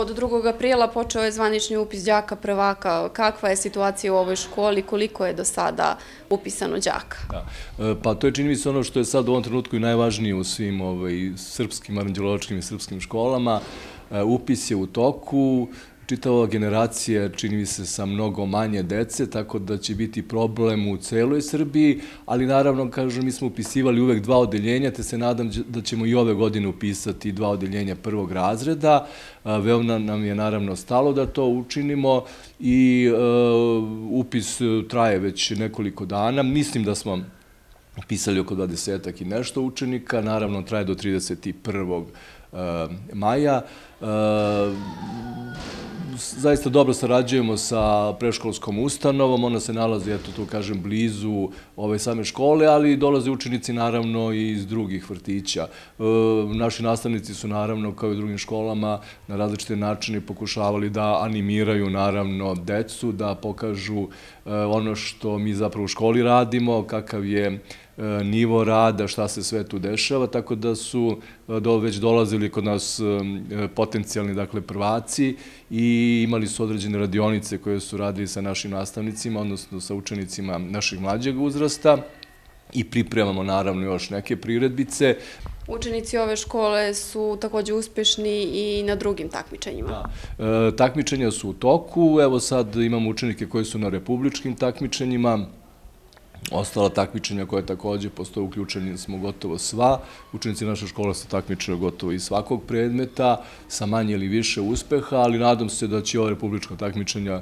od 2. aprila počeo je zvanični upis đaka prvaka. Kakva je situacija u ovoj školi? Koliko je do sada upisano đaka? Pa to je, čini mi se, ono što je sad u ovom trenutku i najvažnije u svim srpskim, aranđeološkim i srpskim školama. Upis je u toku. Čitava generacija, čini mi se, sa mnogo manje dece, tako da će biti problem u celoj Srbiji, ali naravno, kažem, mi smo upisivali uvek 2 odeljenja, te se nadam da ćemo i ove godine upisati 2 odeljenja 1. razreda. Veoma nam je naravno stalo da to učinimo i upis traje već nekoliko dana. Mislim da smo upisali oko 20-ak i nešto učenika, naravno traje do 31. maja. Zaista dobro sarađujemo sa predškolskom ustanovom, ona se nalazi, eto to kažem, blizu ove same škole, ali dolaze učenici naravno i iz drugih vrtića. Naši nastavnici su naravno, kao i u drugim školama, na različite načine pokušavali da animiraju naravno decu, da pokažu ono što mi zapravo u školi radimo, kakav je nivo rada, šta se sve tu dešava, tako da su već dolazili kod nas potencijalni, dakle, prvaci i imali su određene radionice koje su radili sa našim nastavnicima, odnosno sa učenicima našeg mlađeg uzrasta i pripremamo naravno još neke priredbice. Učenici ove škole su također uspešni i na drugim takmičenjima. Takmičenja su u toku, evo sad imamo učenike koji su na republičkim takmičenjima. Ostala takmičenja koje također postoje, uključeni smo gotovo sva. Učenici naše škole se takmičaju gotovo iz svakog predmeta, sa manje ili više uspeha, ali nadam se da će ova republička takmičenja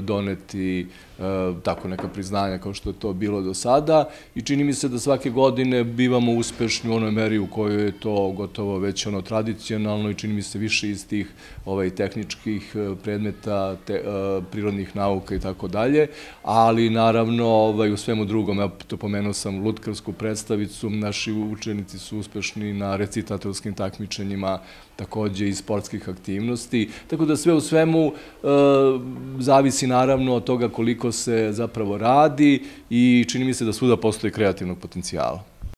doneti tako neka priznanja kao što je to bilo do sada i čini mi se da svake godine bivamo uspešni u onoj meri u kojoj je to gotovo već tradicionalno i čini mi se više iz tih tehničkih predmeta, prirodnih nauka i tako dalje, ali naravno u svemu drugom, ja to pomenuo sam lutkarsku predstavicu, naši učenici su uspešni na recitatorskim takmičenjima, također i sportskih aktivnosti, tako da sve u svemu zavisi naravno od toga koliko se zapravo radi i čini mi se da svuda postoji kreativnog potencijala.